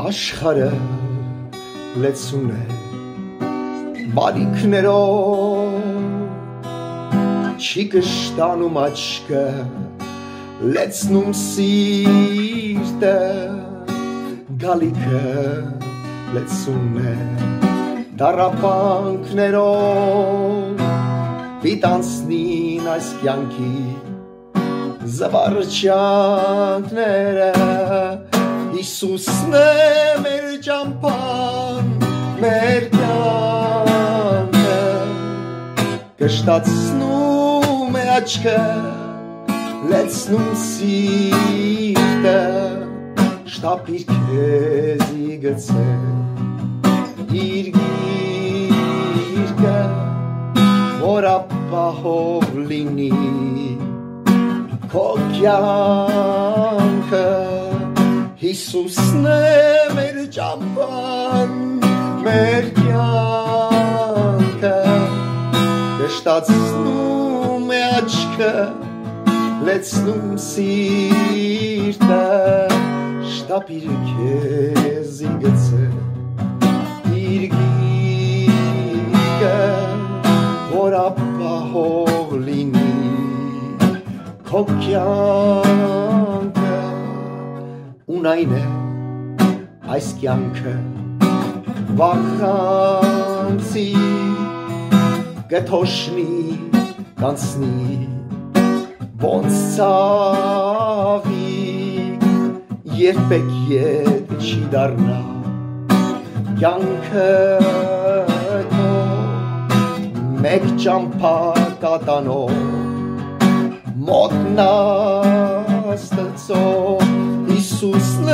Աշխարհը լեցուն է բարիքներով չի կշտանում աչքը լեցնում սիրտը գալիքը լեցուն է տառապանքներով պիտանցնին այս կյանքի զվարճանքները Հիսուսն է մեր ճամփան մեր կյանքը կշտացնում է աչքը լեցնում սիրտը շտապիր քեզի գցե իր գիրկը որ ապահով լինի քո կյանքը Հիսուսն է մեր ճամփան մեր կյանքը կշտացնում է աչքը լեցնում սիրտը շտապիր քեզի գցե իր գիրկը որ ապահով լինի քո կյանքը ունայն է այս կյանքը վախանցի կթոշնի կանցնի ոնց ցավի երբեք ետ չի դառնա կյանքը քո մեկ ճամփա կատանով մոտնաստծով Հիսուսն է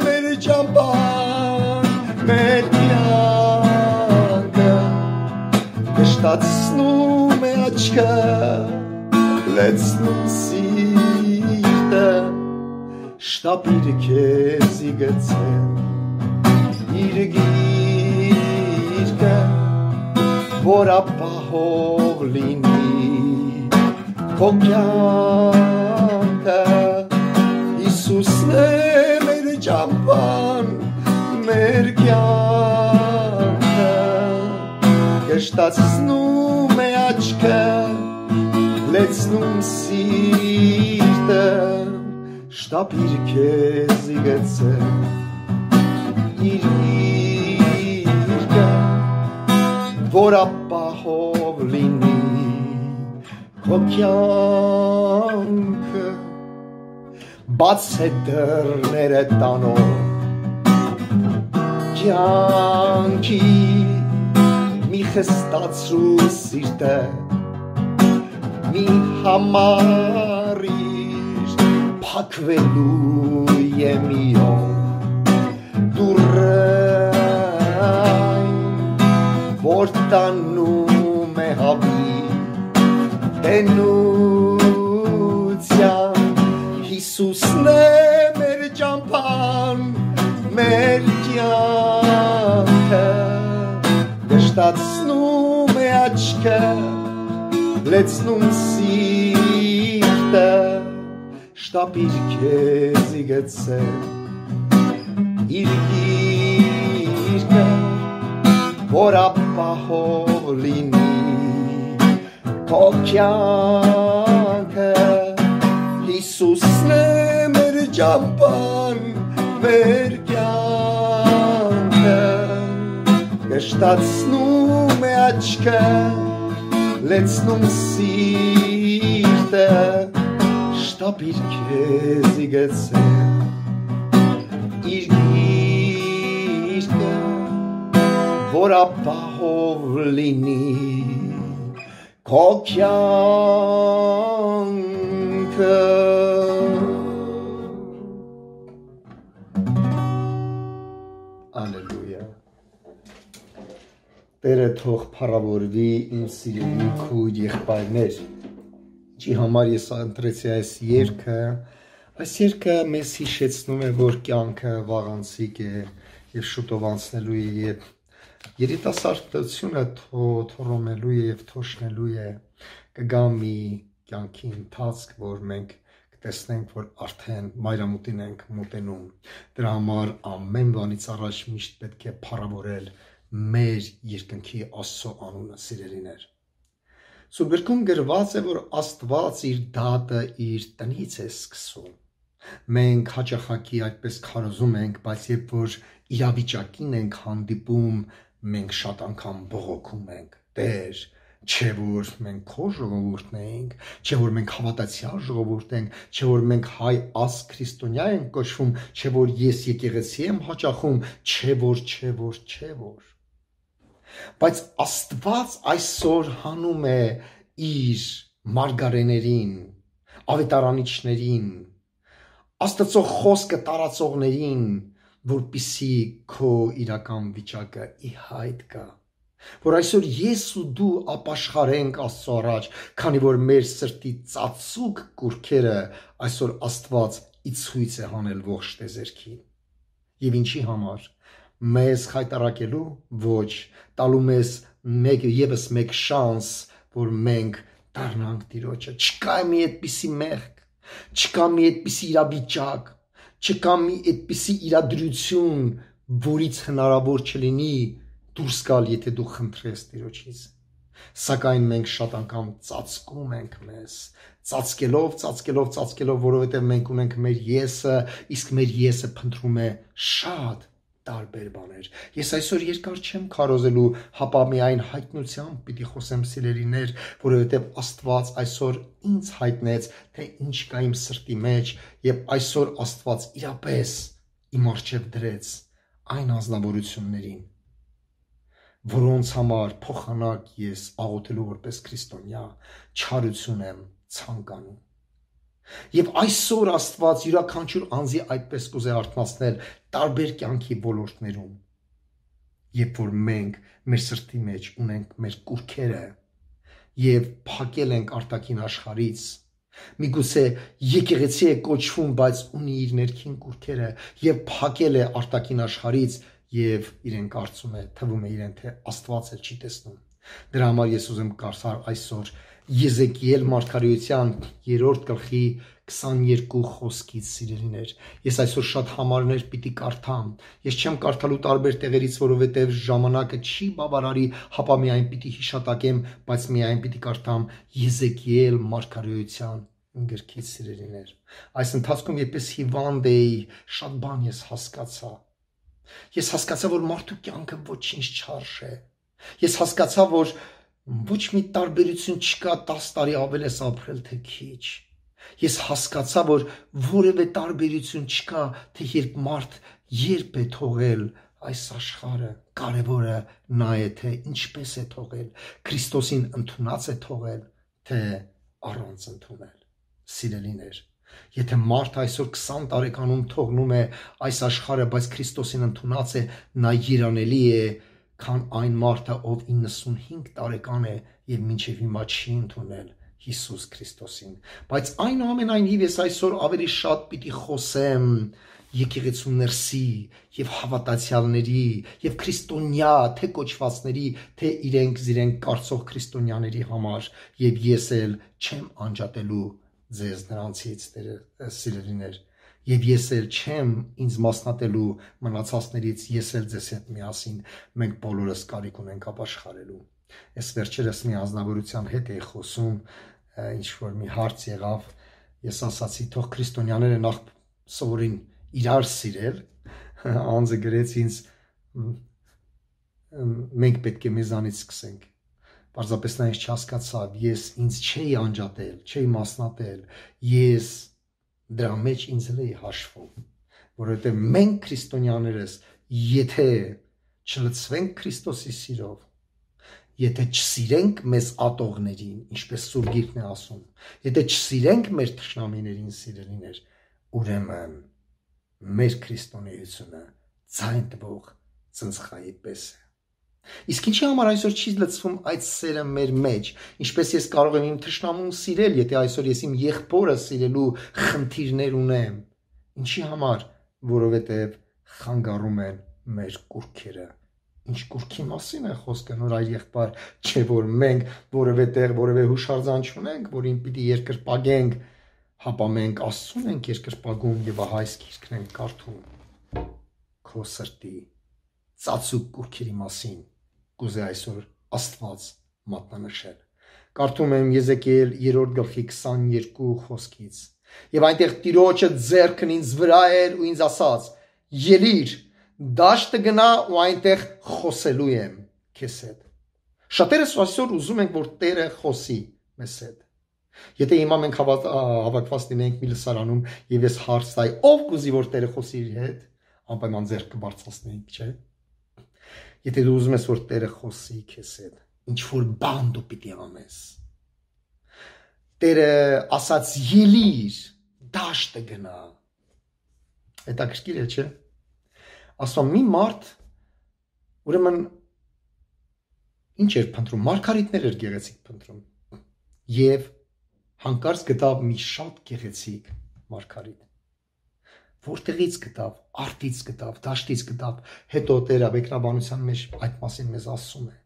մեր ճամփան մեր կյանքը կշտացնում է աչքը լեցնում սիրտը շտապիր քեզի գցե իր գիրկը որ ապահով լինի քո կյանքը Հիսուսն է մեր ճամփան մեր կյանքը կշտացնում է աչքը լեցնում սիրտը շտապիր քեզի գցե իր գիրկը որ ապահով լինի քո կյանքը բաց է դռները տանող կյանքի մի խստացրու սիրտը մի համարիր փակվելու է մի օր դուրայն որ տանում է հավի տենության Հիսուսն է մեր ճամփան մեր կյանքը կշտացնում է աչքը լեցնում սիրտը շտապիր քեզի գցե իր գիրկը որ ապահով լինի քո կյանքը Հիսուսն է մեր ճամփան մեր կյանքը կշտացնում է աչքը լեցնում սիրտը շտապիր քեզի գցե իր գիրկը որ ապահով լինի քո կյանքը Ալելույա Տերը թող փառավորվի իմ սիրելի քույր եղբայրներ ինչի համար ես ընտրեցի այս երգը մեզ հիշեցնում է որ կյանքը վաղանցիկ է եւ շուտով անցնելու է երիտասարդությունը թողնելու է եւ թոշնելու է կգա մի կյանքի ընթացք որ մենք կտեսնենք, որ արդեն մայրամուտին ենք մոտենում։ Դրա համար ամեն բանից առաջ միշտ պետք է փառավորել մեր երկնքի Աստծո անունը, սիրելիներ։ Սուրբ Գրքում գրված է, որ Աստված իր դատը իր տնից է սկսում։ Մենք հաճախակի այդպես քարոզում ենք, բայց երբ որ իրավիճակին ենք հանդիպում, մենք շատ անգամ բողոքում ենք. Տեր, չէ որ մենք քո ժողովուրդն ենք, չէ որ մենք հավատացյալ ժողովուրդ ենք, չէ որ մենք հայ ազգ քրիստոնյա ենք կոչվում, չէ որ ես եկեղեցի եմ հաճախում, չէ որ։ Բայց Աստված այսօր հանում է իր մարգարեներին, ավետարանիչներին, Աստծո խոսքը տարածողներին, որպիսի քո իրական վիճակը ի հայտ գա, որ այսօր ես ու դու ապաշխարենք Աստծո առաջ, քանի որ մեր սրտի ծածուկ կուրքերը այսօր Աստված ի ցույց է հանել ողջ տեզերքին։ Եվ ինչի համար? Մեզ խայտարակելու? Ոչ, տալու մեզ եւս մեկ շանս, որ մենք դառնանք Տիրոջը։ Չկա մի այդպիսի մեղք, չկա մի այդպիսի իրավիճակ, չկա մի այդպիսի իրադրություն, որից հնարավոր չլինի դուրս գալ, եթե դու խնդրես Տիրոջից։ Սակայն մենք շատ անգամ ծածկում ենք մեզ, ծածկելով, որովհետև մենք ունենք մեր եսը, իսկ մեր եսը փնտրում է շատ տարբեր բաներ։ Ես այսօր երկար չեմ քարոզելու, հապա միայն հայտնությամբ պիտի խոսեմ, սիրելիներ, որովհետև Աստված այսօր ինձ հայտնեց, թե ինչ կա իմ սրտի մեջ, եւ այսօր Աստված իրապես իմ առջև դրեց այն անձնավորություններին, որոնց համար փոխանակ ես աղոթելու որպես քրիստոնյա չարություն եմ ցանկանում։ Եվ այսօր Աստված յուրաքանչյուր անձի այդպես կուզե արթնացնել տարբեր կյանքի ոլորտներում, երբ որ մենք մեր սրտի մեջ ունենք մեր կուրքերը եւ փակել ենք արտաքին աշխարհից, միգուցե եկեղեցի է կոչվում, բայց ունի իր ներքին կուրքերը եւ փակել է արտաքին աշխարհից եւ իրեն կարծում է, թվում է իրեն, թե Աստված էլ չի տեսնում։ Դրա համար ես ուզում կարդալ այսօր Եզեկիել մարգարեության 3-րդ գլխի 22 խոսքից, սիրելիներ։ Ես այսօր շատ համարներ պիտի կարդամ։ Ես չեմ կարդալու տարբեր տեղերից, որովհետև ժամանակը չի բավարարի, հապա միայն պիտի հիշատակեմ, բայց միայն պիտի կարդամ Եզեկիել մարգարեության գրքից, սիրելիներ։ Այս ընթացքում երբ ես հիվանդ էի, շատ բան ես հասկացա։ Ես հասկացա, որ մարդու կյանքը ոչինչ չարժե։ Ես հասկացա, որ ոչ մի տարբերություն չկա 10 տարի ավել ես ապրել, թե քիչ։ Ես հասկացա, որ որևէ տարբերություն չկա, թե երբ մարդ երբ է թողել այս աշխարհը, կարևորը նա է, թե ինչպես է թողել, Քրիստոսին ընդունած է թողել, թե առանց ընդունել։ Սիրելիներ, եթե մարդ այսօր 20 տարեկանում թողնում է այս աշխարհը, բայց Քրիստոսին ընդունած է, նա երանելի է, քան այն մարդը, ով 95 տարեկան է եւ մինչեւ հիմա չի ընդունել Հիսուս Քրիստոսին։ Բայց այնուամենայնիվ ես այսօր ավելի շատ պիտի խոսեմ եկեղեցու ներսի եւ հավատացյալների եւ քրիստոնյա, թե կոչվածների, թե իրենք կարծող քրիստոնյաների համար, եւ ես էլ չեմ անջատելու ձեզ նրանցից, սիրելիներ։ Եվ ես էլ չեմ ինձ մասնատելու մնացածներից, ես էլ ձեզ հետ միասին, մենք բոլորս կարիք ունենք ապաշխարելու։ Այս վերջերս մի անձնավորության հետ էի խոսում, ինչ որ մի հարց եղավ, ես ասացի, թող քրիստոնյաները նախ սովորին իրար սիրել, անձը գրեց ինձ, մենք պետք է մեզանից սկսենք։ Պարզապես նա ինձ չհասկացավ, ես ինձ չէի անջատել, չէի մասնատել, ես դրա մեջ ինձ էլ էի հաշվում, որովհետև մենք քրիստոնյաներս, եթե չլցվենք Քրիստոսի սիրով, եթե չսիրենք մեզ ատողներին, ինչպես Սուրբ Գիրքն է ասում, եթե չսիրենք մեր թշնամիներին, սիրելիներ, ուրեմն մեր քրիստոնեությունը ձայն տվող ծնցխայի պես է։ Իսկ ինչի համար այսօր չի լցվում այդ սերը մեր մեջ, ինչպես ես կարող եմ իմ թշնամուն սիրել, եթե այսօր ես իմ եղբորը սիրելու խնդիրներ ունեմ։ Ինչի համար? Որովհետև խանգարում են մեր կուրքերը։ Ինչ կուրքի մասին է խոսքը, նոր այր եղբայր, չէ որ մենք որևէ տեղ, որևէ հուշարձան չունենք, որին պիտի երկրպագենք, հապա մենք Աստծուն ենք երկրպագում եւ ահա այս գիրքն ենք կարդում քո սրտի ծածուկ կուռքերի մասին կուզե այսօր Աստված մատնանշել։ Կարդում եմ Եզեկիել 3:22 խոսքից. Եվ այնտեղ Տիրոջը ձեռքն ինձ վրա էր ու ինձ ասաց. ելիր, դաշտը գնա ու այնտեղ խոսելու եմ քեզ հետ։ Շատերս այսօր ուզում ենք, որ Տերը խոսի մեզ հետ։ Եթե հիմա մենք հավաքված լինենք մի լսարանում եւ ես հարց տայի, ով կուզի որ Տերը խոսի իր հետ, անպայման ձեռքը բարձրացնենք, չէ՞։ Եթե դու ուզում ես որ Տերը խոսի քեզ հետ, ինչ որ բան դու պիտի անես։ Տերը ասաց ելիր, դաշտը գնա։ Հետաքրքիր է, չէ՞։ Ասում մի մարդ ուրեմն ինչ էր փնտրում, մարգարիտներ էր գեղեցիկ փնտրում։ Եվ հանկարծ գտավ մի շատ գեղեցիկ մարգարիտ։ Որտեղից գտավ, արտից գտավ, դաշտից գտավ, հետո Տերը մեկնաբանության մեջ այդ մասին մեզ ասում է.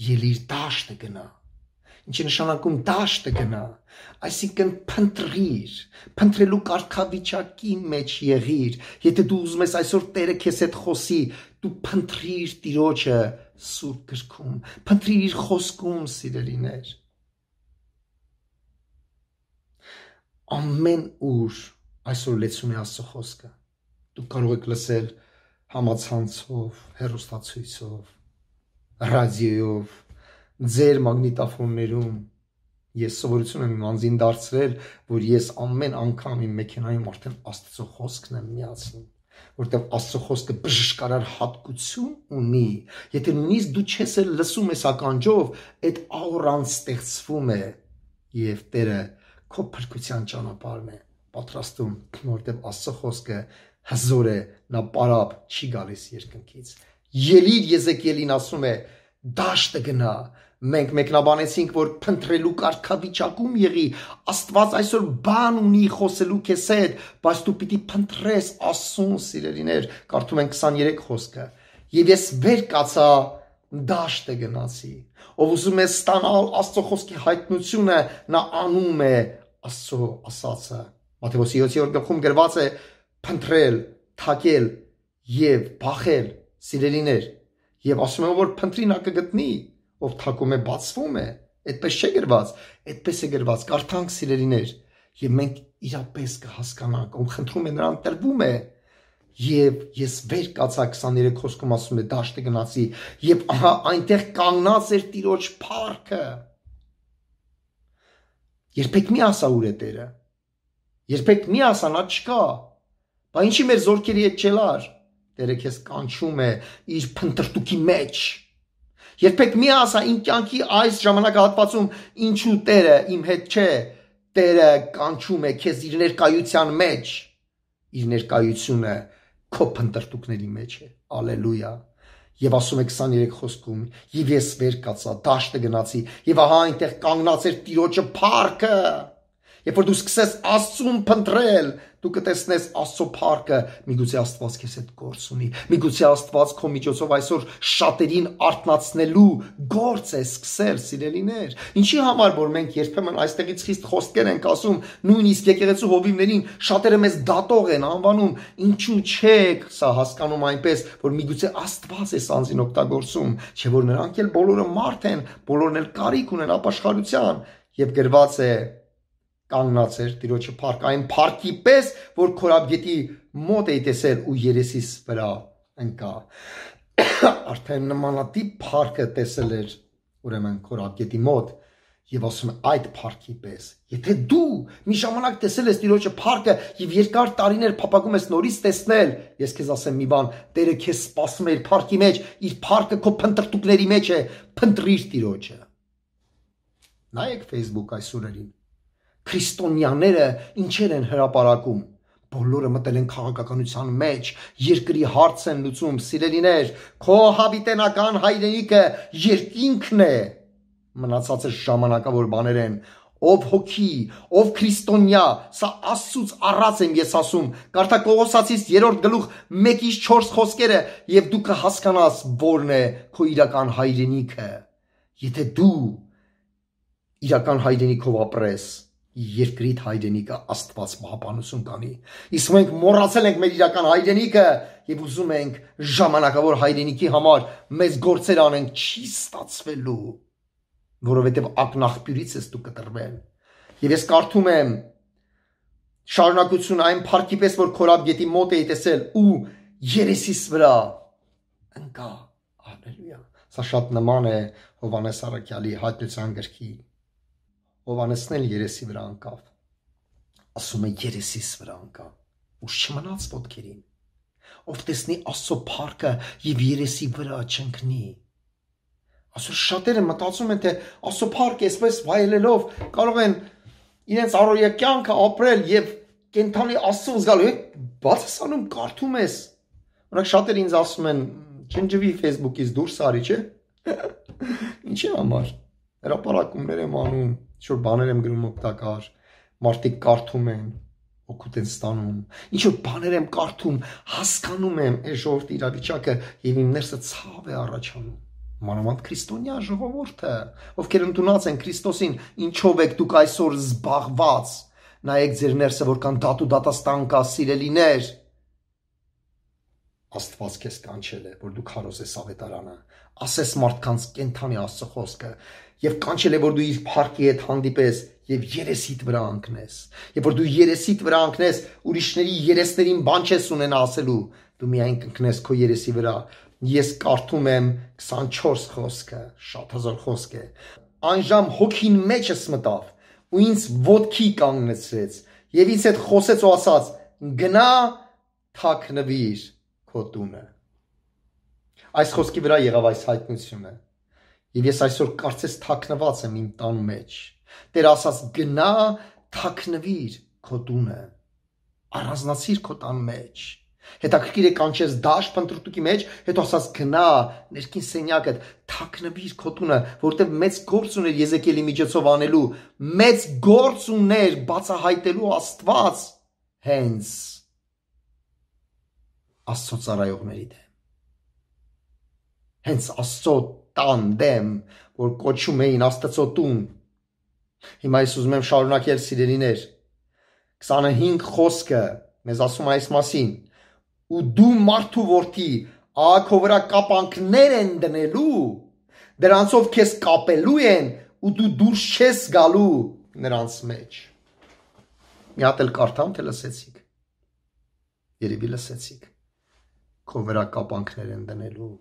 ելիր դաշտը գնա։ Ինչ է նշանակում դաշտը գնա, այսինքն փնտրիր, փնտրելու կարգավիճակի մեջ եղիր։ Եթե դու ուզում ես այսօր Տերը քեզ հետ խոսի, դու փնտրիր Տիրոջը Սուրբ գրքում, փնտրիր իր խոսքում, սիրելիներ։ Ամեն ուր այսօր լեցուն է Աստծո խոսքը։ Դուք կարող եք լսել համացանցով, հեռուստացույցով, ռադիոյով, ձեր մագնիտոֆոններում։ Ես սովորություն եմ անձին դարձրել, որ ես ամեն անգամ իմ մեքենայում արդեն Աստծո խոսքն եմ միացնում, որտեղ Աստծո խոսքը բժշկարար հատկություն ունի։ Եթե նույնիսկ դու չես էլ լսում ես ականջով, այդ աուրան ստեղծվում է եւ Տերը քո փրկության ճանապարհն է պատրաստում, որտեղ Աստծո խոսքը հզոր է, նա պարապ չի գալիս երկնքից։ Ելիր Եզեկիելին ասում է, դաշտը գնա։ Մենք մեկնաբանեցինք, որ փնտրելու կարգավիճակում եղի, Աստված այսօր բան ունի խոսելու քեզ հետ, բայց դու պիտի փնտրես Աստծուն, սիրելիներ, կարդում ենք 23 խոսքը։ Եվ ես վեր կացա, դաշտը գնացի։ Ով ուզում է ստանալ Աստծո խոսքի հայտնությունը, նա անում է Աստծո ասածը։ Մատթեոս 7-րդ գրված է փնտրել, թակել եւ բախել, սիրելիներ։ Եվ ասում եմ, որ փնտրի նա կգտնի, ով թակում է բացվում է, այդպես չէ գրված, այդպես է գրված, կարդանք սիրելիներ, եւ մենք իրապես կհասկանանք, ով խնդրում է նրան տրվում է։ Եվ ես վեր կացա 23 խոսքում ասում է դաշտը գնացի, եւ ահա այնտեղ կանգնած էր Տիրոջ փառքը։ Երբեք մի ասա ուր է Տերը։ Երբեք մի ասա նա չկա։ Բա ինչի մեր զորքերի հետ չելար։ Տերը քեզ կանչում է իր փնտրտուքի մեջ։ Երբեք մի ասա իմ կյանքի այս ժամանակահատվածում ինչու Տերը իմ հետ չէ։ Տերը կանչում է քեզ իր ներկայության մեջ։ Իր ներկայությունը քո փնտրտուքների մեջ է։ Ալելույա։ Եվ ասում է 23 խոսքում. Եվ ես վեր կացա, դաշտը գնացի, եւ ահա այնտեղ կանգնած էր Տիրոջը փառքը։ Երբ որ դու սկսես Աստծուն փնտրել, դու կտեսնես Աստծո փառքը, միգուցե Աստված քեզ հետ գործ ունի, միգուցե Աստված քո միջոցով այսօր շատերին արթնացնելու գործ է սկսել, սիրելիներ։ Ինչի համար որ մենք երբեմն այստեղից խիստ խոսքեր ենք ասում, նույնիսկ եկեղեցու հովիվներին շատերը մեզ դատող են անվանում, ինչու չեք սա հասկանում այնպես, որ միգուցե Աստված է սանձին օգտագործում, չէ՞ որ նրանք էլ բոլորը մարդ են, բոլորն էլ կարիք ունեն ապաշխարության, եւ գրված է կանգնած էր Տիրոջը փառք, այն փառքի պես, որ քորաբգետի մոտ էի տեսել ու երեսիս վրա ընկա։ Արդեն նմանատիպ փառքը տեսել էր ուրեմն քորաբգետի մոտ եւ ասում է այդ փառքի պես։ Եթե դու մի ժամանակ տեսել ես Տիրոջը փառքը եւ երկար տարիներ փապակում ես նորից տեսնել, ես քեզ ասեմ մի բան, Տերը քեզ սպասում է իր փառքի մեջ, իր փառքը քո փնտրտուքների մեջ է, փնտրիր Տիրոջը։ Նայեք Facebook այսօրերին։ Քրիստոնյաները ինչեր են հրապարակում, բոլորը մտել են քաղաքականության մեջ, երկրի հարց են լուծում, սիրելիներ, քո հավիտենական հայրենիքը երկինքն է, մնացածը ժամանակավոր բաներ են, ով հոգի, ով քրիստոնյա, սա Աստծուց առած եմ ես ասում, կարդա Կողոսացիս 3:1-4 խոսքերը եւ դու կհասկանաս որն է քո իրական հայրենիքը, եթե դու իրական հայրենիքով ապրես, երկրիդ հայրենիքը Աստված պահպանություն կանի։ Իսկ մենք մոռացել ենք մեր իրական հայրենիքը եւ ուզում ենք ժամանակավոր հայրենիքի համար մեծ գործեր անենք, չի ստացվելու, որովհետեւ ակնաղբյուրից ես դու կտրվել։ Եվ ես կարդում եմ շարունակություն այն փառքի պես, որ Քորաբ գետի մոտ էի տեսել ու երեսիս վրա ընկա։ Հալելույա։ Սա շատ նման է Հովհաննես Առաքյալի հայտնության գրքի։ Հովհաննեսն էլ երեսի վրա ընկավ։ Ասում է երեսիս վրա ընկա։ Ուշ չմնաց ոտքերին։ Ով տեսնի Աստծո փառքը եւ երեսի վրա չընկնի։ Այսօր շատերը մտածում են, թե Աստծո փառքը այսպես վայելելով կարող են իրենց առօրյա կյանքը ապրել եւ կենթանի Աստծո զգալու։ Բաց ես անում, կարդում ես։ Օրինակ շատերը ինձ ասում են, չնջվի Facebook-ից դուրս արի, չէ՞։ Ինչի համար։ Հրապարակումներ եմ անում, ինչ-որ բաներ եմ գրում օգտակար, մարդիկ կարդում են, օգուտ են ստանում, ինչ-որ բաներ եմ կարդում, հասկանում եմ այս ժողովրդի իրավիճակը եւ իմ ներսը ցավ է առաջանում։ Մանավանդ քրիստոնյա ժողովուրդը, ովքեր ընդունած են Քրիստոսին, ինչով եք դուք այսօր զբաղված։ Նայեք ձեր ներսը, որքան դատու դատաստան կա, սիրելիներ։ Աստված քեզ կանչել է, որ դու քարոզես ավետարանը, ասես մարդկանց կենթանի Աստծո խոսքը եւ կանչել է, որ դու իր փառքի հետ հանդիպես եւ երեսիդ վրա ընկնես։ Եվ որ դու երեսիդ վրա ընկնես, ուրիշների երեսներին բան չես ունենա ասելու, դու միայն կընկնես քո երեսի վրա։ Ես կարդում եմ 24 խոսքը, շատ հզոր խոսք է։ Անժամ հոգին մեջս մտավ ու ինձ ոտքի կանգնեցրեց եւ ինձ հետ խոսեց ու ասաց. գնա թաքնվիր քո տունը։ Այս խոսքի վրա եղավ այս հայտնությունը։ Եվ ես այսօր կարծես թաքնված եմ իմ տան մեջ։ Տեր ասաց. գնա թաքնվիր քո տունը։ Առանձնացիր քո տան մեջ։ Հետաքրքիր է կանչես դաշտ փնտրտուքի մեջ, հետո ասաց գնա ներքին սենյակդ, թաքնվիր քո տունը, որտեղ մեծ գործ ուներ Եզեկիելի միջոցով անելու, մեծ գործ ուներ բացահայտելու Աստված հենց Աստծո ծառայողների դեմ։ Հենց Աստծո տան դեմ, որ կոչում էին Աստծո տուն։ Հիմա ես ուզում եմ շարունակել, սիրելիներ։ 25 խոսքը մեզ ասում է այս մասին։ Ու դու մարդու որդի, աղաքո վրա կապանքներ են դնելու, դրանցով քեզ կապելու են ու դու դուրս չես գալու նրանց մեջ։ Մի հատ էլ կարդամ, թե լսեցիք։ Երևի լսեցիք։ Քո վրա կապանքներ են դնելու։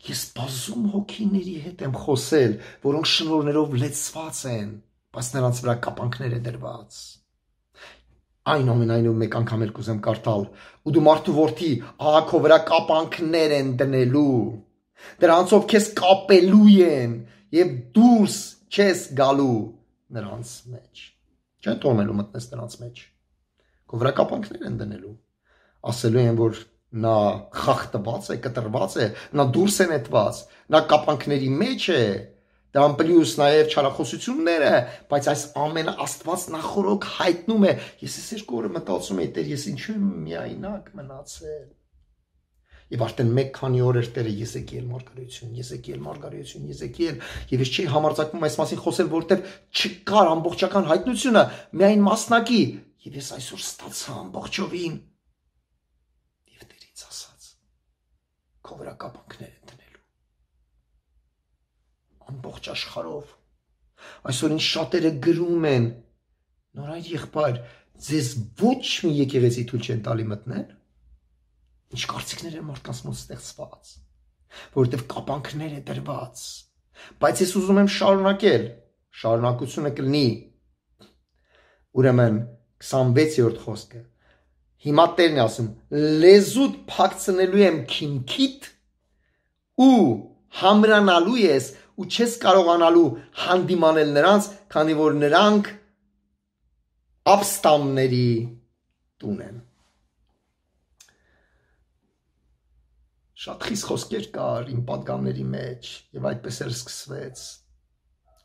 Ես բազում հոգիների հետ եմ խոսել, որոնք շնորհներով լեցված են, բայց նրանց վրա կապանքներ է դրված։ Այնուամենայնիվ մեկ անգամ էլ կուզեմ կարդալ. ու դու մարդու որդի, աղաքո վրա կապանքներ են դնելու, դրանցով քեզ կապելու են եւ դուրս չես գալու նրանց մեջ։ Չեն թողնելու մտնես նրանց մեջ։ Քո վրա կապանքներ են դնելու։ Ասելու են, որ նա խախտված է, կտրված է, նա դուրս է նետված, նա կապանքների մեջ է, դրան պլյուս նաև չարախոսությունները, բայց այս ամենը Աստված նախորոք հայտնում է։ Ես այս երկու օրը մտածում էի, Տեր, ես ինչու եմ միայնակ մնացել։ Եվ արդեն մեկ քանի օր էր Տերը Եզեկիել մարգարեություն, եւ ես չի համարձակվում այս մասին խոսել, որովհետեւ չկար ամբողջական հայտնությունը, միայն մասնակի, եւ ես այսօր ստացա ամբողջովին։ Եվ Տերը ինձ ասաց. քո վրա կապանքներ են դնելու ամբողջ աշխարհով։ Այսօր ինչ շատերը գրում են. նորայր եղբայր, ձեզ ոչ մի եկեղեցի թույլ չեն տալի մտնել։ Ինչ կարծիքներ են մարդկանց մոտ ստեղծված, որովհետև կապանքներ է դրված։ Բայց ես ուզում եմ շարունակել, շարունակությունը կլինի։ Ուրեմն 26-րդ խոսքը։ Հիմա Տերն է ասում. լեզուդ փակցնելու եմ քինքիդ ու համրանալու ես ու չես կարողանալու հանդիմանել նրանց, քանի որ նրանք ապստամբների տուն են։ Շատ խիստ խոսքեր կար իմ պատգամների մեջ եւ այդպես էլ սկսվեց։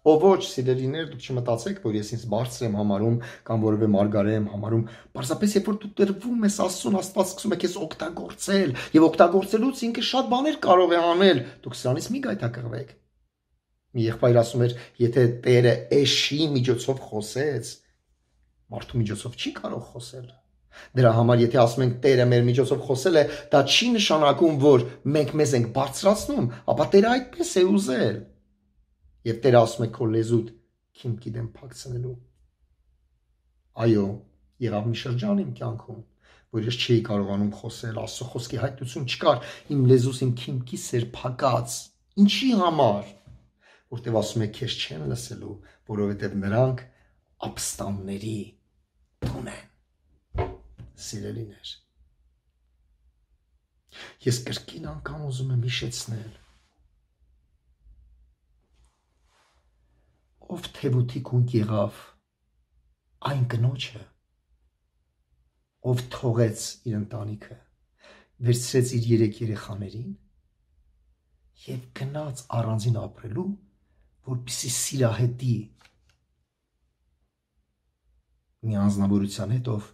Ո ոչ, սիրելիներ, դուք չմտածեք, որ ես ինձ բարձր եմ համարում կամ որևէ մարգարե եմ համարում, պարզապես երբ որ դու տրվում ես Աստծուն, Աստված սկսում է քեզ օգտագործել եւ օգտագործելուց ինքը շատ բաներ կարող է անել, դուք սրանից մի գայթակղվեք։ Մի եղբայր ասում էր, եթե Տերը էշի միջոցով խոսեց, Մարդու միջոցով չի կարող խոսել։ Դրա համար եթե ասում ենք Տերը մեր միջոցով խոսել է, դա չի նշանակում, որ մենք մեզ ենք բարձրացնում, ապա Տերը այդպես է ուզել։ Եվ Տերը ասում է քո լեզուդ քիմքի դեմ փակցնելու։ Այո, եղավ մի շրջան իմ կյանքում, որ ես չէի կարողանում խոսել, Աստծո խոսքի հայտնություն չկար, իմ լեզուս իմ քիմքիս էր փակած։ Ինչի համար? Որտեվ ասում է քեզ չեն լսելու, որովհետև նրանք ապստամբների տուն են։ Սիրելիներ, ես կրկին անգամ ուզում եմ հիշեցնել, ով թևութի կունք եղավ այն կնոջը, ով թողեց իր ընտանիքը, վերցրեց իր 3 երեխաներին և գնաց առանձին ապրելու, որպեսզի սիրահետի մի անձնավորության հետ, ով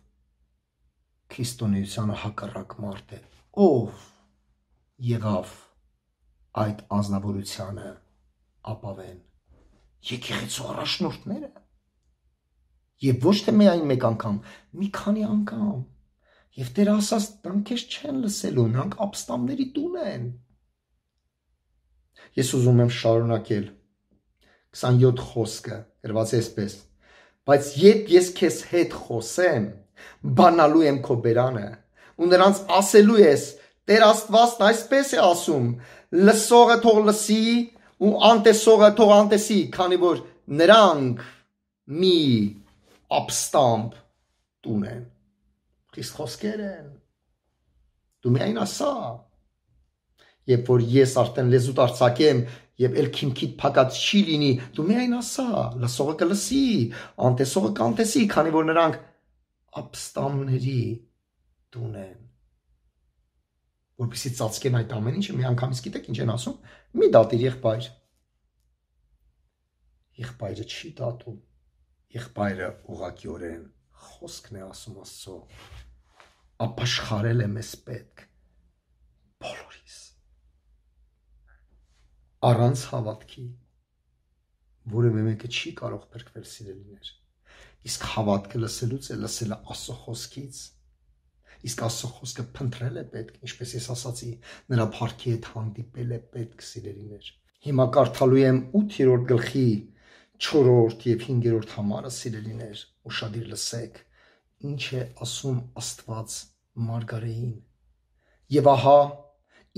քրիստոնեությանը հակառակ մարդ է, ով եղավ այդ անձնավորությանը ապավեն եկեղեցու առաջնորդները եւ ոչ թե միայն մեկ անգամ, մի քանի անգամ, եւ Տերը ասաց, նրանք քեզ չեն լսելու, նրանք ապստամբների տուն են։ Ես ուզում եմ շարունակել 27 խոսքը գրված է այսպես. բայց երբ ես քեզ հետ խոսեմ, բանալու եմ քո բերանը, ու նրանց ասելու ես, Տեր Աստվածն այսպես է ասում, լսողը թող լսի ու անտեսողը թող անտեսի, քանի որ նրանք մի ապստամբ տուն են։ Խիստ խոսքեր են։ Դու միայն ասա, երբ որ ես արդեն լեզուտ արձակեմ եւ ել քիմքիդ փակած չի լինի, դու միայն ասա, լսողը կլսի, անտեսողը կանտեսի, քանի որ նրանք ապստամբների տուն են։ Որպեսզի ծածկեն այդ ամեն ինչը, մի անգամից գիտեք ինչ են ասում, մի դատիր եղբայր։ Եղբայրը չի դատում, եղբայրը ուղղակիորեն խոսքն է ասում Աստծո, ապաշխարել է մեզ պետք բոլորիս։ Առանց հավատքի որևէ մեկը չի կարող փրկվել, սիրելիներ։ Իսկ հավատքը լսելուց է, լսելը Աստծո խոսքից։ Իսկ Աստծո խոսքը փնտրել է պետք, ինչպես ես ասացի, նրա փառքի հետ հանդիպել է պետք, սիրելիներ։ Հիմա կարդալու եմ 8-րդ գլխի 4-րդ եւ 5-րդ համարը, սիրելիներ, ուշադիր լսեք, ինչ է ասում Աստված Մարգարեին։ Եվ ահա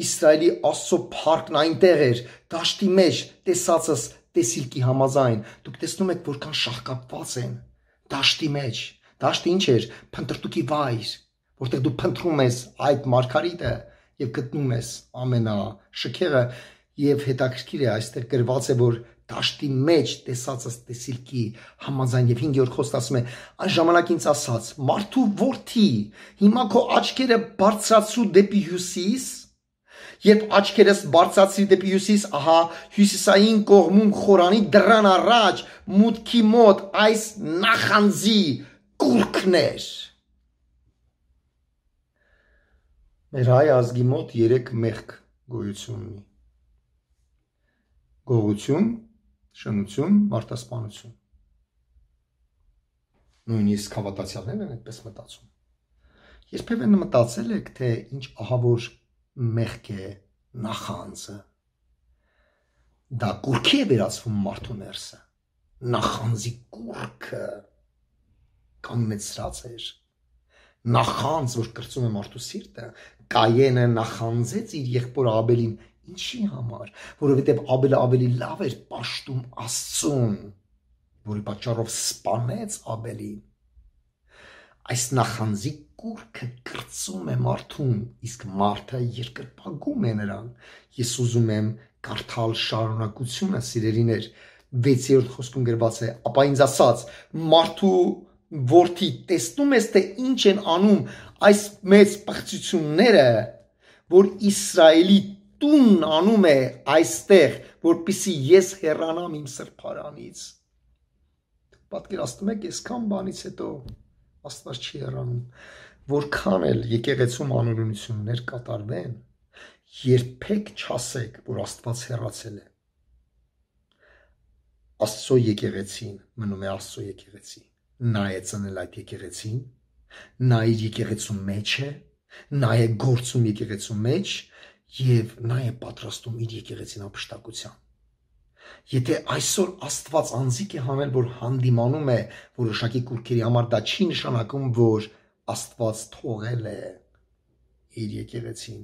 Իսրայելի Աստծո փառքն այնտեղ էր, դաշտի մեջ, տեսածս տեսիլքի համաձայն։ Դուք տեսնում եք, որքան շահկապված են դաշտի մեջ։ Դաշտը ինչ էր? Փնտրտուքի վայր, որտեղ դու փնտրում ես այդ մարգարիտը եւ գտնում ես ամենաշքեղը, եւ հետաքրքիր է, այստեղ գրված է, որ դաշտի մեջ տեսածս տեսիլքի համաձայն եւ 5-րդ խոսքը ասում է, այն ժամանակ ինձ ասաց. մարդու որդի, հիմա քո աչքերը բարձրացրու դեպի հյուսիս, երբ աչքերս բարձրացրի դեպի հյուսիս, ահա հյուսիսային կողմում խորանի դռան առաջ մուտքի մոտ այս նախանձի կուրքն էր։ Մեր հայ ազգի մոտ 3 մեղք գոյություն ունի. գողություն, շնություն, մարդասպանություն։ Նույնիսկ հավատացյալներն են այդպես մտածում։ Երբևէ մտածել եք, թե ինչ ահավոր մեղք է նախանձը։ Դա կուրքի է վերածվում մարդու ներսը։ Նախանձի կուրքը կանգնեցրած էր։ Նախանձ, որ կրծում է մարդու սիրտը, Կայենը նախանձեց իր եղբոր Աբելին, ինչի համար, որովհետև Աբելը ավելի լավ էր պաշտում Աստծուն, որի պատճառով սպանեց Աբելին։ Այս նախանձի կուրքը կրծում է մարդուն, իսկ մարդը երկրպագում է նրան։ Ես ուզում եմ կարդալ շարունակությունը, սիրելիներ, 6-րդ խոսքում գրված է, ապա ինձ ասաց, մարդու որդի, տեսնում ես, թե ինչ են անում այս մեծ պղծությունները, որ Իսրայելի տունն անում է այստեղ, որպեսզի ես հեռանամ իմ սրբարանից։ Պատկերացնում եք, այսքան բանից հետո Աստված չի հեռանում, որքան էլ եկեղեցում անօրենություններ կատարվեն, երբեք չասեք, որ Աստված հեռացել է։ Աստծո եկեղեցին մնում է Աստծո եկեղեցի։ նա է ծնել այդ եկեղեցին, նա իր եկեղեցու մեջ է, նա է գործում եկեղեցու մեջ եւ նա է պատրաստում իր եկեղեցին ապշտակության։ Եթե այսօր Աստված անձիկ է հանել, որ հանդիմանում է որոշակի կուրքերի համար, դա չի նշանակում, որ Աստված թողել է իր եկեղեցին։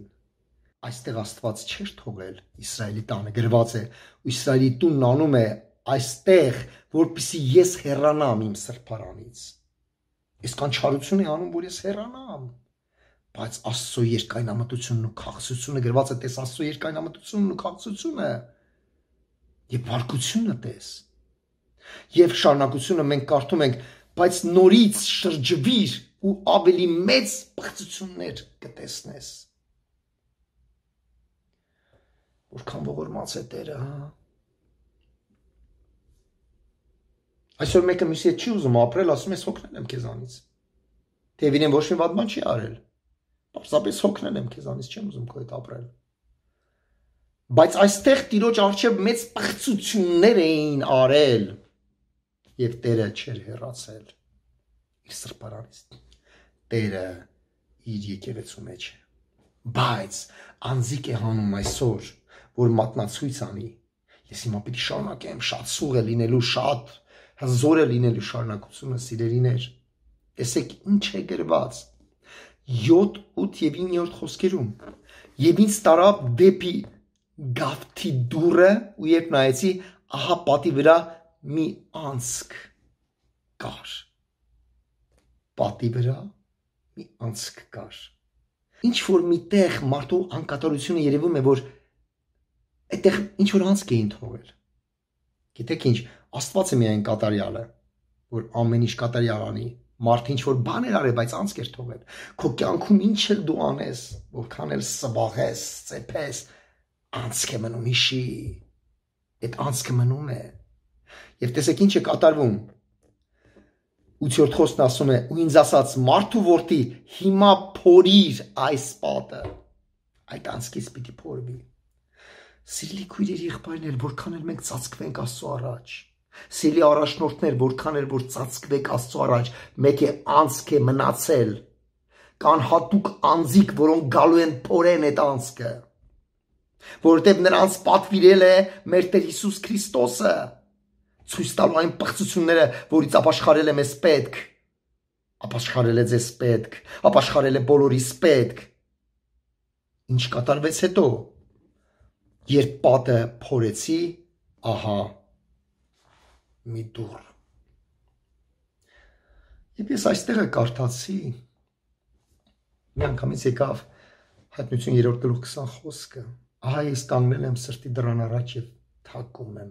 Այստեղ Աստված չէր թողել Իսրայելի տանը, գրված է, ու Իսրայելի տունն անում է այստեղ, որպեսզի ես հեռանամ իմ սրբարանից։ Այսքան չարություն է անում, որ ես հեռանամ։ Բայց Աստծո երկայնամտությունն ու քաղցրությունը գրված է, տես Աստծո երկայնամտությունն ու քաղցրությունը եւ բարկությունը տես։ Եվ շարունակությունը մենք կարդում ենք, բայց նորից շրջվիր ու ավելի մեծ բացություններ կտեսնես։ Որքան ողորմած է Տերը, հա։ Այսօր մեկը մյուսի հետ չի ուզում ապրել, ասում ես հոգնել եմ քեզանից։ Տևին ոչ մի վատ բան չի արել։ Պարզապես հոգնել եմ քեզանից, չեմ ուզում քո հետ ապրել։ Բայց այստեղ Տիրոջ առջև մեծ բացություններ էին արել եւ Տերը չէր հեռացել իր սրբարանից։ Տերը իր եկեղեցու մեջ է։ Բայց անձիկ է հանում այսօր, որ մատնացույց անի։ Ես հիմա պիտի շարունակեմ, շատ սուղ է լինելու, շատ հզոր է լինելու շարունակությունը, սիրելիներ։ Տեսեք ինչ է գրված 7, 8 եւ 9-րդ խոսքերում։ Եվ ինձ տարավ դեպի գավթի դուռը, ու երբ նայեցի, ահա պատի վրա մի անցք կար։ Պատի վրա մի անցք կար։ Ինչ որ միտեղ մարդու անկատարությունը երևում է, որ այդտեղ ինչ որ անցք էին թողել։ Գիտեք ինչ, Աստված է միայն կատարյալը, որ ամեն ինչ կատարյալ անի։ Մարդ ինչ որ բան էր արել, բայց անցք էր թողել։ Քո կյանքում ինչ էլ դու անես, որքան էլ սվաղես, ծեփես, անցք է մնում, հիշի։ Այդ անցքը մնում է։ Եվ տեսեք ինչ է կատարվում։ 8-րդ խոսքն ասում է, ու ինձ ասաց, մարդու որդի, հիմա փորիր այս պատը։ Այդ անցքից պիտի փորվի։ Սիրելի քույրեր, եղբայրներ, որքան էլ մենք ծածկվենք Աստծո առաջ։ Սիրելի առաջնորդներ, որքան էլ որ ծածկվեք Աստծո առաջ, մեկ է անցք է մնացել։ Կան հատուկ անձիկ, որոնք գալու են փորեն այդ անցքը, որովհետև նրանց պատվիրել է մեր Տեր Հիսուս Քրիստոսը, ցույց տալու այն պղծությունները, որից ապաշխարել է մեզ պետք, ապաշխարել է ձեզ պետք, ապաշխարել է բոլորիս պետք։ Ինչ կատարվեց հետո, երբ պատը փորեցի, ահա մի դուռ։ Եվ ես այստեղ կարդացի, մի անգամից եկավ Հայտնություն 3-րդ գլուխ 20 խոսքը, ահա ես կանգնել եմ սրտի դռան առաջ եւ թակում եմ։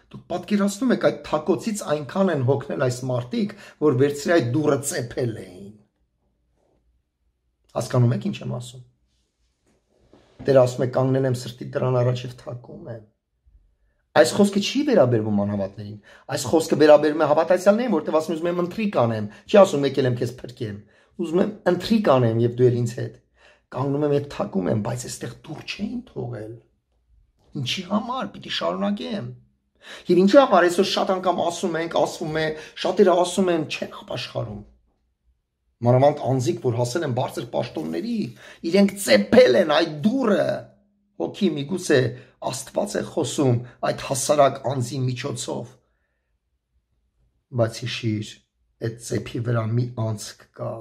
Դուք պատկերացնում եք այդ թակոցից այնքան են հոգնել այս մարդիկ, որ վերցրի այդ դուռը ծեփել էին։ Հասկանում եք ինչ եմ ասում։ Տերը ասում է կանգնել եմ սրտի դռան առաջ եւ թակում եմ։ Այս խոսքը չի վերաբերվում անհավատներին։ Այս խոսքը վերաբերում է հավատացյալներին, որտեղ ասում եմ ընթրիկ անեմ, չի ասում եկել եմ քեզ փրկեմ։ Ուզում եմ ընթրիկ անեմ եւ դու ել ինձ հետ։ Կանգնում եմ եւ թակում եմ, բայց այստեղ դուռ չէին թողել։ Ինչի համար պիտի շարունակեմ։ Եվ ինչի համար այսօր շատ անգամ ասում ենք, ասվում է, շատերը ասում են, չեն ապաշխարում։ Մանավանդ անձիկ, որ հասել են բարձր պաշտոնների, իրենք ծեփել են այդ դուռը։ Հոգի միգուցե Աստված է խոսում այդ հասարակ անձի միջոցով։ Բայց հիշիր, այդ ծեփի վրա մի անցք կա։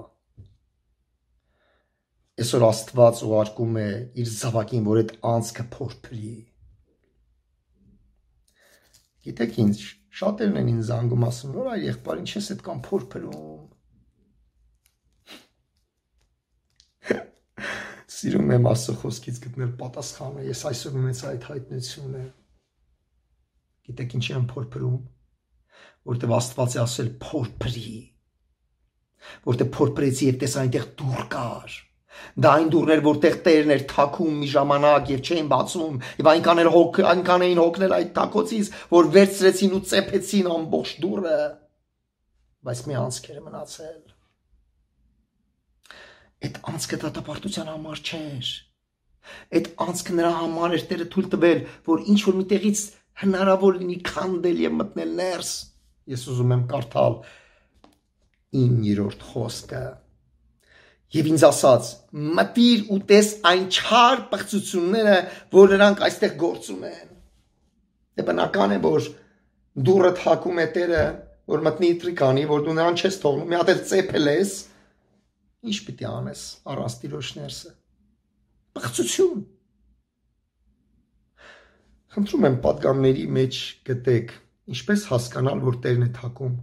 Այսօր Աստված ուղարկում է իր զավակին, որ այդ անցքը փորփրի։ Գիտեք ինչ, շատերն են ինձ զանգում ասում, որ այ եղբայր, ինչ ես այդքան փորփրում։ Սիրում եմ Աստծո խոսքից գտնել պատասխանը, ես այսօր ունեցա այդ հայտնությունը։ Գիտեք ինչի եմ փորփրում, որտեղ Աստված է ասել փորփրի, որտեղ փորփրեցի եւ տեսա այնտեղ դուռ կար։ Դա այն դուռներ, որտեղ Տերն էր թակում մի ժամանակ եւ չէին բացում, եւ այնքան էին հոգնել այդ թակոցից, որ վերցրեցին ու ծեփեցին ամբողջ դուռը, բայց մի անցք էր մնացել։ Այդ անցքը դատապարտության համար չէր։ Այդ անցքը նրա համար էր Տերը թույլ տվել, որ ինչ որ միտեղից հնարավոր լինի քանդել եւ մտնել ներս։ Ես ուզում եմ կարդալ 9-րդ խոսքը։ Եվ ինձ ասաց. մտիր ու տես այն չար պղծությունները, որ նրանք այստեղ գործում են։ Դե բնական է, որ դուրը թակում է Տերը, որ մտնի տրիկանի, որ դու նրան չես թողնում, մի հատ էլ ծեփել ես, ինչ պիտի անես առանց Տիրոջ ներսը։ Պղծություն։ Խնդրում եմ պատգամների մեջ գտեք, ինչպես հասկանալ, որ Տերն է թակում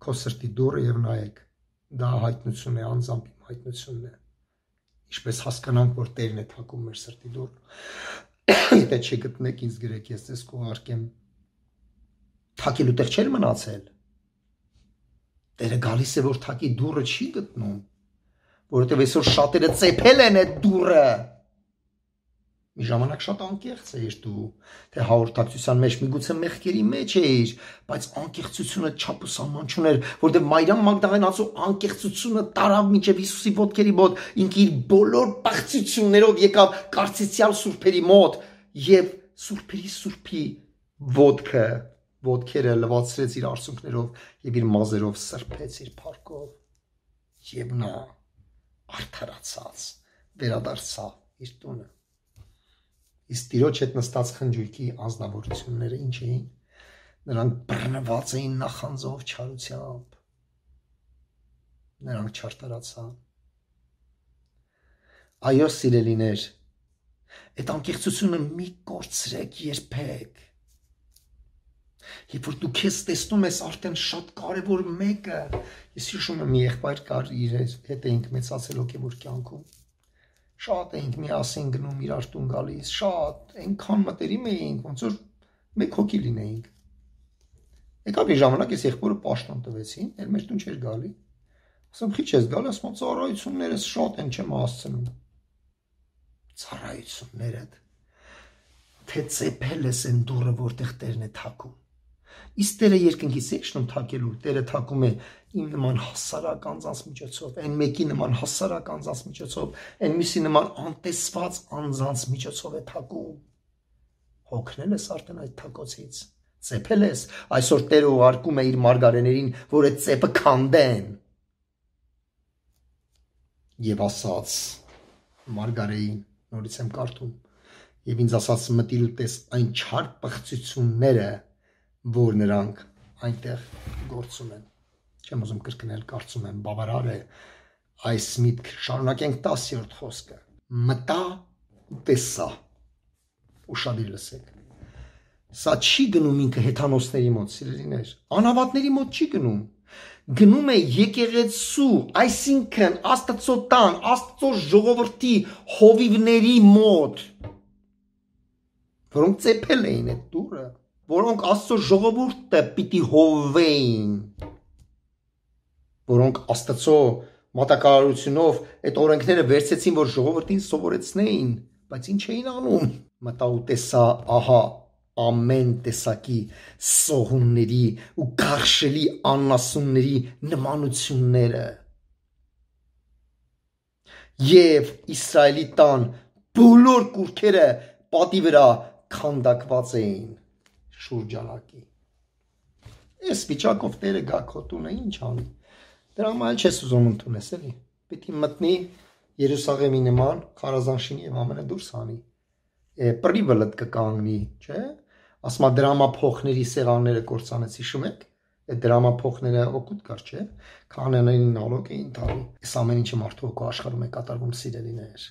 քո սրտի դուռը եւ նայեք։ Դա հայտնություն է, անձամբ իմ հայտնությունն է։ Ինչպես հասկանանք, որ Տերն է թակում մեր սրտի դուռը։ Եթե չգտնեք, ինձ գրեք, ես ձեզ կուղարկեմ։ Թակելու տեղ չէր մնացել։ Տերը գալիս է, որ թակի դուռը չի գտնում, որովհետև այսօր շատերը ծեփել են այդ դուռը։ Մի ժամանակ շատ անկեղծ էիր դու, թե հաղորդակցության մեջ միգուցե մեղքերի մեջ էիր, բայց անկեղծությունը չափ ու սահման չուներ, որովհետև Մարիամ Մագդաղենացու անկեղծությունը տարավ մինչև Հիսուսի ոտքերի մոտ, ինքը իր բոլոր պղծություններով եկավ կարծիցյալ սուրբերի մոտ եւ սուրբերի սուրբի ոտքերը լվացրեց իր արցունքներով եւ իր մազերով սրբեց իր փառքով եւ նա արդարացած վերադարձավ իր տունը։ Իսկ Տիրոջ հետ նստած խնջույքի անձնավորությունները ինչ էին։ Նրանք բռնված էին նախանձով չարությամբ։ Նրանք չարտարացան։ Այո, սիրելիներ, այդ անկեղծությունը մի կորցրեք երբեք։ Երբ որ դու քեզ տեսնում ես արդեն շատ կարևոր մեկը, ես հիշում եմ մի եղբայր կար, իր հետ էինք մեծացել հոգևոր կյանքում։ Շատ էինք միասին գնում իրար տուն գալիս, շատ, այնքան մտերիմ էինք, ոնց որ մեկ հոգի լինեինք։ Եկավ մի ժամանակ ես եղբորը պաշտոն տվեցին, էլ մեր տուն չէր գալի։ Ասում, քիչ ես գալի, ասում, ծառայություններս շատ են չեմ հասցնում։ Ծառայություններդ, թե ծեփել ես այն դուռը, որտեղ Տերն է թակում։ Իսկ Տերը երկնքից է շնում թակելու, Տերը թակում է իմ նման հասարակ անձանց միջոցով, այն մեկի նման հասարակ անձանց միջոցով, այն մյուսի նման անտեսված անձանց միջոցով է թակում։ Հոգնել ես արդեն այդ թակոցից, ծեփել ես, այսօր Տերը ուղարկում է իր մարգարեներին, որ այդ ծեփը քանդեն։ Եվ ասաց մարգարեին, նորից եմ կարդում, եւ ինձ ասաց մտիր ու տես այն չար պղծությունները, որ նրանք այնտեղ գործում են։ Չեմ ուզում կրկնել, կարծում եմ բավարար է այս միտք։ Շարունակենք 10-րդ խոսքը։ Մտա ու տեսա։ Ուշադիր լսեք։ Սա չի գնում ինքը հեթանոսների մոտ, սիրելիներ, անհավատների մոտ չի գնում։ Գնում է եկեղեցու, այսինքն Աստծո տան, Աստծո ժողովրդի հովիվների մոտ, որոնք ծեփել էին այդ դուռը, որոնք Աստծո ժողովուրդը պիտի հովվեին, որոնք Աստծո մատակարարությունով այդ օրենքները վերցեցին, որ ժողովրդին սովորեցնեին, բայց ինչ էին անում։ Մտա ու տեսա, ահա ամեն տեսակի սողունների ու գարշելի անասունների նմանությունները եւ Իսրայելի տան բոլոր կուռքերը պատի վրա քանդակված էին շուրջանակի։ Այս վիճակով Տերը գա քո տունը ինչ անի։ Դրա համար չես ուզում ընդունես էլի։ Պիտի մտնի Երուսաղեմի նման քարազանշինի եւ ամենը դուրս անի։ Պրիվելդ կկանգնի, չէ՞։ Ասма դրամափոխների սեղանները կործանեց, հիշում եք։ Այդ դրամափոխները օգուտ կար, չէ՞։ Քահանաներին նալոգ էին տալի։ Այս ամեն ինչը մարդու հոգու աշխարհում է կատարվում, սիրելիներ։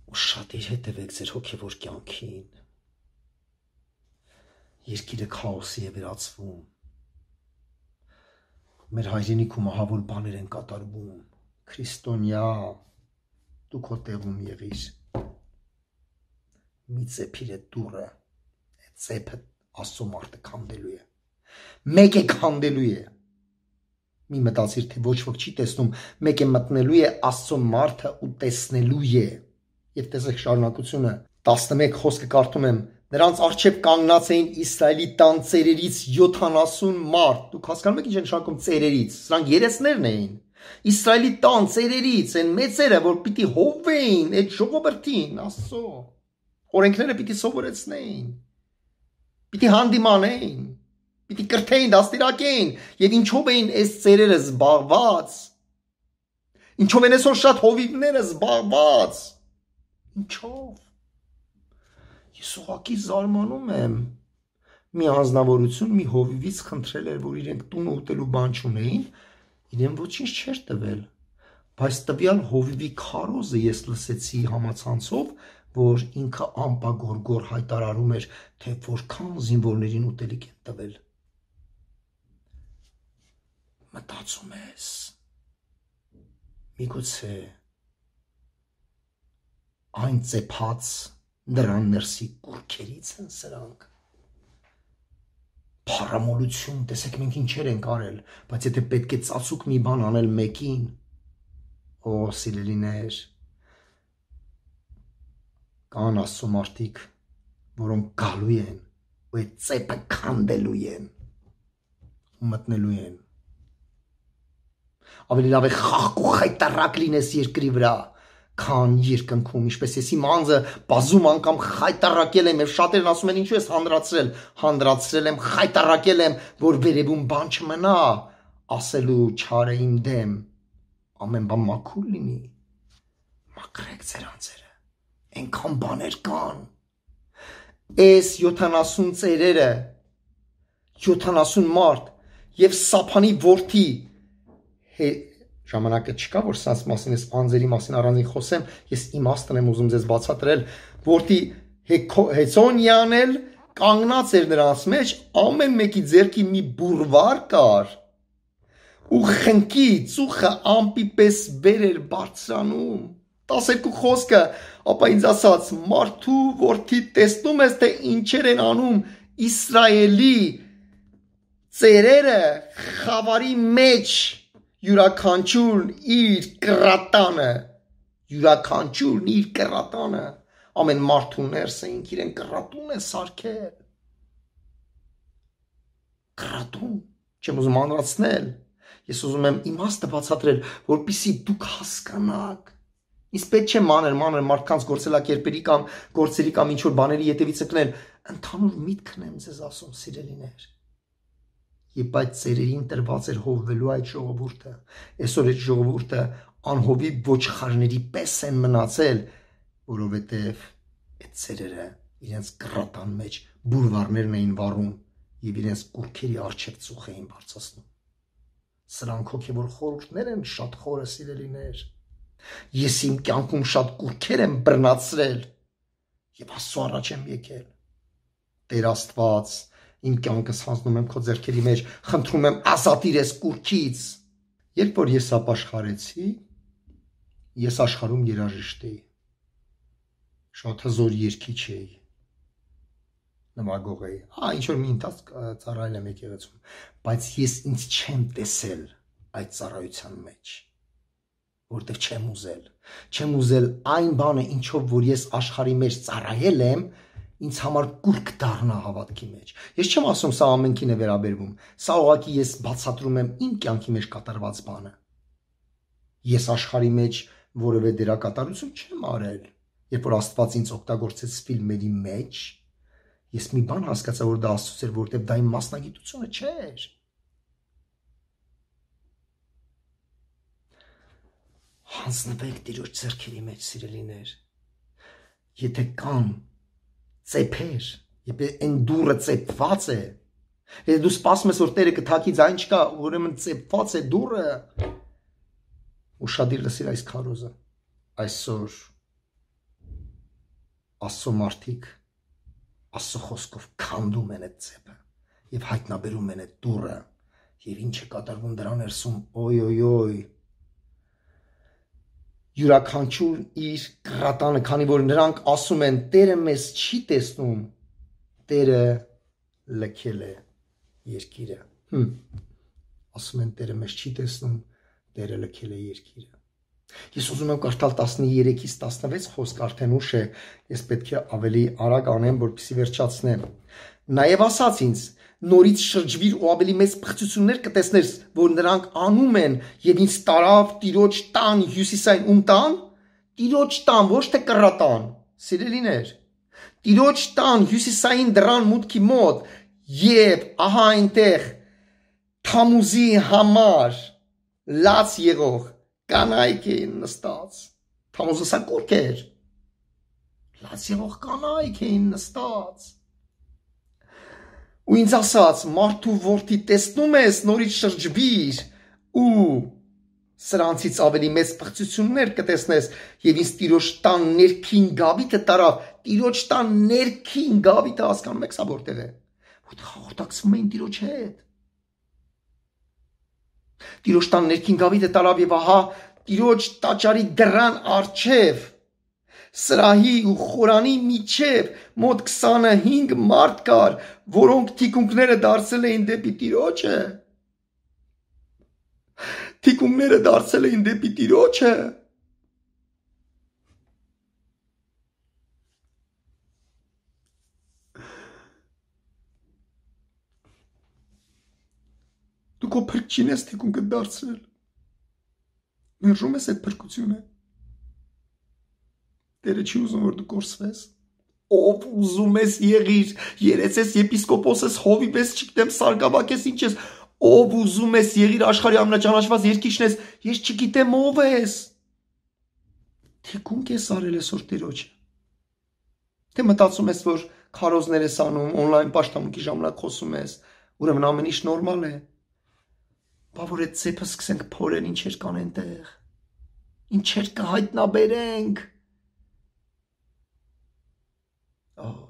Ու շատ իր հետևեք ձեր հոգևոր կյանքին։ Երկիրը քաոսի է վերածվում։ Մեր հայրենիքում ահավոր բաներ են կատարվում։ Քրիստոնյա, դու քո տեղում եղիր։ Մի ծեփիր այդ դուռը, այդ ծեփը Աստծո մարդը քանդելու է։ Մեկ է քանդելու է։ Մի մտածիր, թե ոչ ոք չի տեսնում, մեկ է մտնելու է Աստծո մարդը ու տեսնելու է։ Եվ տեսեք շարունակությունը 11 խոսքը կարդում եմ։ Նրանց առջև կանգնած էին Իսրայելի տան ծերերից 70 մարդ։ Դուք հասկանում եք ինչ են շարքում ծերերից։ Սրանք երեսներն էին։ Իսրայելի տան ծերերից են մեծերը, որ պիտի հովվեին այդ ժողովրդին, Աստծո օրենքները պիտի սովորեցնեին, պիտի հանդիմանեին, Պիտի կրթեին, դաստիարակեին, եւ ինչով էին այս ծերերը զբաղված։ Ինչով են այսօր շատ հովիվները զբաղված։ Ինչով։ Ես ուղղակի զարմանում եմ։ Մի անձնավորություն մի հովիվից խնդրել էր, որ իրենք տուն ուտելու բան չունեին, իրեն ոչինչ չէր տվել։ Բայց տվյալ հովիվի քարոզը ես լսեցի համացանցով, որ ինքը ամպագորգոր հայտարարում էր, թե որքան զինվորներին ուտելիք են տվել։ Մտածում ես, միգուցե այն ծեփած նրան ներսի կուրքերից են սրանք։ Փառամոլություն, տեսեք մենք ինչեր ենք արել, բայց եթե պետք է ծածուկ մի բան անել մեկին, օ սիրելիներ, կան Աստծո մարդիկ, որոնք գալու են ու այդ ծեփը քանդելու են ու մտնելու են։ Ավելի լավ է խաղ ու խայտարակ լինես երկրի վրա, քան երկնքում, ինչպես ես իմ անձը բազում անգամ խայտարակել եմ, եւ շատերն ասում են ինչու ես հանդրացրել եմ, խայտարակել եմ, որ վերևում բան չմնա, ասելու չարը իմ դեմ, ամեն բան մաքուր լինի, մաքրեք ձեր անձերը, այնքան բաներ կան, այս 70 ծերերը, 70 մարդ, եւ Սափանի որդի, ժամանակը չկա, որ սրանց մասին ես անձերի մասին առանձին խոսեմ, ես իմաստն եմ ուզում ձեզ բացատրել, որդի Հեցոնյան էլ կանգնած էր նրանց մեջ, ամեն մեկի ձեռքի մի բուրվար կար, ու խնկի ծուխը ամպի պես վեր էր բարձրանում, 12 խոսքը, ապա ինձ ասաց, մարդու որդի տեսնում ես, թե ինչեր են անում Իսրայելի ծերերը խավարի մեջ, յուրաքանչյուրն իր կռատանը, ամեն մարդու ներս էինք իրեն կռատուն է սարքել, կռատուն, չեմ ուզում անրացնել, ես ուզում եմ իմաստը բացատրել, որպեսզի դուք հասկանաք, իսկ պետք չէ մանր մարդկանց գործելակերպերի կամ գործերի կամ ինչ-որ բաների ետևից ընկնել, ընդհանուր միտքն եմ ձեզ ասում, սիրելիներ, Եվ այդ ծերերին տրված էր հովվելու այդ ժողովուրդը, այսօր այդ ժողովուրդը անհովի ոչխարների պես են մնացել, որովհետև այդ ծերերը իրենց կռատան մեջ բուրվարներն էին վառում եւ իրենց կուրքերի առջև ծուխ էին բարձրացնում։ Սրանք հոգեվոր խորհուրդներ են շատ խորը սիրելիներ։ Ես իմ կյանքում շատ կուրքեր եմ բռնացրել եւ Աստծո առաջ եմ եկել։ Տեր Աստված, իմ կյանքս հանձնում եմ քո ձեռքերի մեջ, խնդրում եմ ազատիր ես կուրքից։ Երբ որ ես ապաշխարեցի, ես աշխարհում երաժիշտ էի։ Շատ հզոր երգիչ էի։ Նվագող էի։ Ինչ որ մի ընթացք ծառայել եմ եկեղեցում, բայց ես ինձ չեմ տեսել այդ ծառայության մեջ, որտեղ չեմ ուզել այն բանը, ինչով որ ես աշխարհի մեջ ծառայել եմ, ինձ համար կուրք դառնա հավատքի մեջ։ Ես չեմ ասում սա ամենքին է վերաբերվում, սա ուղղակի ես բացատրում եմ իմ կյանքի մեջ կատարված բանը։ Ես աշխարհի մեջ որևէ դերակատարություն չեմ արել, երբ որ Աստված ինձ օգտագործեց ֆիլմերի մեջ, ես մի բան հասկացա, որ դա Աստծուց էր, որտեղ դա իմ մասնագիտությունը չէր։ Հանձնվեք Տիրոջ ձեռքերի մեջ, սիրելիներ։ Եթե կան ծեփեր, եթե այն դուռը ծեփված է, եթե դու սպասում ես, որ Տերը կթակի ձայն չկա, ուրեմն ծեփված է դուռը, ուշադիր լսիր այս քարոզը, այսօր Աստծո մարդիկ Աստծո խոսքով քանդում են այդ ծեփը եւ հայտնաբերում են այդ դուռը եւ ինչ է կատարվում դրա ներսում, օյ յուրաքանչյուր իր կռատանը, քանի որ նրանք ասում են Տերը մեզ չի տեսնում, Տերը լքել է երկիրը։ Ասում են Տերը մեզ չի տեսնում, Տերը լքել է երկիրը։ Ես ուզում եմ կարդալ 13-ից 16 խոսք, արդեն ուշ է, ես պետք է ավելի արագ անեմ, որպեսզի վերջացնեմ։ Նաև ասաց ինձ, նորից շրջվիր ու ավելի մեծ փխծություններ կտեսնես, որ նրանք անում են, եւ ինձ տարավ Տիրոջ տան հյուսիսային ում տան, Տիրոջ տան, ոչ թե կռատան, սիրելիներ, Տիրոջ տան հյուսիսային դռան մուտքի մոտ, Եվ ահա այնտեղ Թամուզի համար լաց եղող կանայք էին նստած։ Թամուզը սա կուրք էր։ Լաց եղող կանայք էին նստած։ Ու ինձ ասաց, մարդու որդի տեսնում ես, նորից շրջվիր ու սրանցից ավելի մեծ պղծություններ կտեսնես եւ ինձ տիրոջ տան ներքին գավիթը տարավ։ Տիրոջ տան ներքին գավիթը հասկանում եք սա որտեղ է։ Որտեղ հաղորդակցվում էին տիրոջ հետ։ Տիրոջ տան ներքին գավիթը տարավ եւ ահա տիրոջ տաճարի դռան առջև սրահի ու խորանի միջև մոտ 25 մարդ կար, որոնք թիկունքները դարձել էին դեպի տիրոջը։ Թիկունքները դարձել էին դեպի տիրոջը։ Դու քո փրկչին ես թիկունքը դարձրել։ Մերժում ես այդ փրկությունը։ Տերը չի ուզում, որ դու կորսվես։ Ով ուզում ես եղիր, երեցես եպիսկոպոսես, հովիվես, չգիտեմ, սարգսակես, ինչ ես, ով ուզում ես եղիր աշխարհի ամենաճանաչված երկիչն ես, ես չգիտեմ ով ես։ Թիկունք ես արել այսօր Տիրոջը։ Թե մտածում ես, որ քարոզներ ես անում, on-line պաշտամունքի ժամանակ խոսում ես, ուրեմն ամեն ինչ նորմալ է։ Բա որ այդ ծեփը սկսենք փորել, ինչեր կան այնտեղ։ Ինչեր կհայտնաբերենք։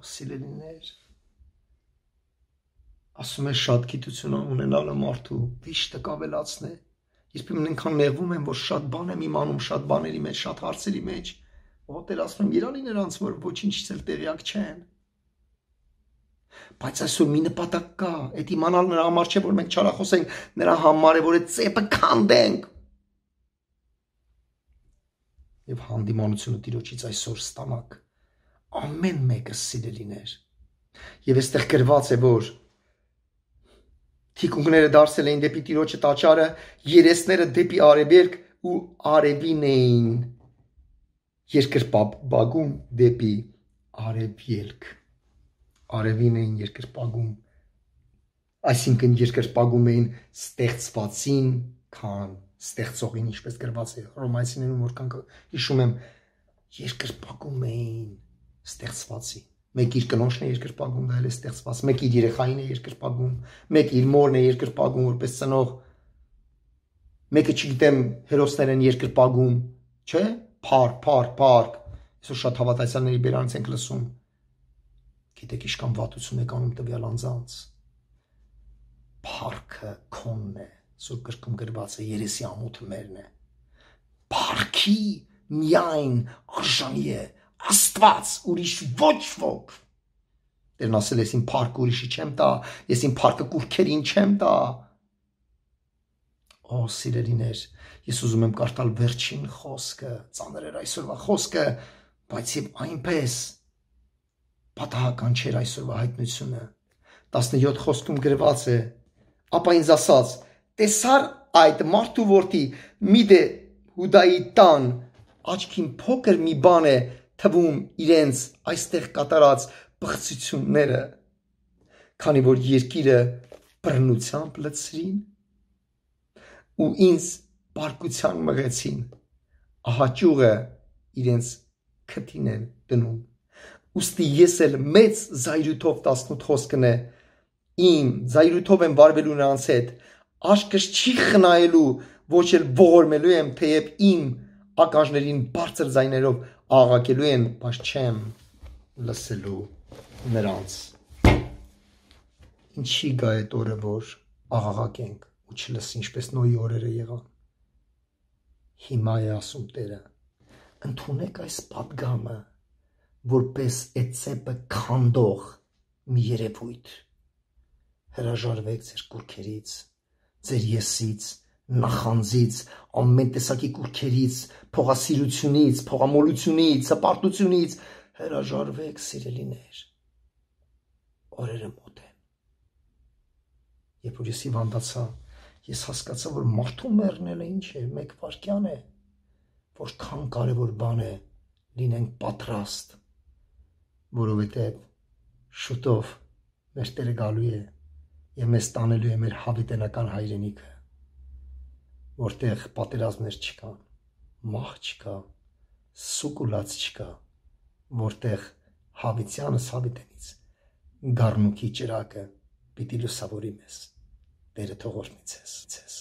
Սիրելիներ, ասում է շատ գիտություն ունենալը մարդու վիշտը կավելացնե։ Երբեմն այնքան նեղվում եմ, որ շատ բան եմ իմանում, շատ բաների մեջ, շատ հարցերի մեջ։ Ոտեր ասում եմ, երանի նրանց, որ ոչինչից էլ տեղյակ չեն։ Բայց այսօր մի նպատակ կա, այդ իմանալ նրա համար չէ, որ մենք չարախոսենք, նրա համար է, որ այդ ծեփը քանդենք։ Եվ հանդիմանությունը Տիրոջից այսօր ստանաք։ Ամեն մեկը սիրելիներ։ Եվ այստեղ գրված է, որ թիկունքները դարձել էին դեպի Տիրոջը տաճարը, երեսները դեպի արևելք ու արևին էին երկրպագում դեպի արևելք։ Արևին էին երկրպագում, այսինքն երկրպագում էին ստեղծվածին, քան ստեղծողին, ինչպես գրված է Հռոմայացիներում, որքան հիշում եմ, երկրպագում էին ստեղծվածի։ Մեկ իր կնոջն է երկրպագում, դա էլ է ստեղծված, մեկ իր երեխային է երկրպագում, մեկ իր մորն է երկրպագում որպես ծնող, մեկը չգիտեմ հերոսներ են երկրպագում, չէ՞, փառք, այսօր շատ հավատացյալների բերանից ենք լսում։ Գիտեք ինչքան վատություն եք անում տվյալ անձանց։ Փառքը քոնն է, Սուրբ գրքում գրված է, երեսի ամոթը մերն է։ Փառքի միայն արժանի է Աստված, ուրիշ ոչ ոք։ Տերն ասել ես իմ փառքը ուրիշի չեմ տա, ես իմ փառքը կուրքերին չեմ տա։ Օ սիրելիներ, ես ուզում եմ կարդալ վերջին խոսքը, ծանր էր այսօրվա խոսքը, բայց եւ այնպես պատահական չէր այսօրվա հայտնությունը։ 17 խոսքում գրված է. ապա ինձ ասաց. տեսար այդ մարդու որդի մի դե Հուդայի տան աչքին փոքր մի բան է թվում իրենց այստեղ կատարած բղծությունները, քանի որ երկիրը բռնությամբ լցրին ու ինձ բարկության մղեցին, ահա ճյուղը իրենց քթին են դնում։ Ուստի ես էլ մեծ զայրույթով 18 խոսքն է, իմ զայրույթով եմ վարվելու նրանց հետ, աշկս չի խնայելու, ոչ էլ ողորմելու եմ, թեև իմ ականջներին բարձր ձայներով աղաղակելու են, բայց չեմ լսելու նրանց։ Ինչի գա այդ օրը, որ աղաղակենք ու չլսի, ինչպես Նոյի օրերը եղան։ Հիմա է ասում Տերը, ընդունեք այս պատգամը, որպես այդ ծեփը քանդող մի երևույթ։ Հրաժարվեք ձեր կուրքերից, ձեր եսից, նախանձից, ամեն տեսակի կուրքերից, փողասիրությունից, փողամոլությունից, հպարտությունից, հրաժարվեք սիրելիներ։ Օրերը մոտ են։ Երբ որ ես հիվանդացա, ես հասկացա, որ մարդու մեռնելը ինչ է, մեկ վայրկյան է, որքան կարևոր բան է լինենք պատրաստ, որովհետև շուտով մեր Տերը գալու է եւ մեզ տանելու է մեր հավիտենական հայրենիքը, որտեղ պատերազմներ չկան, մահ չկա, սուկուլած չկա, որտեղ հավիտյանս հավիտենից գառնուքի ճրակը պիտի լուսավորի մեզ։ Տերը թող օրհնի ձեզ։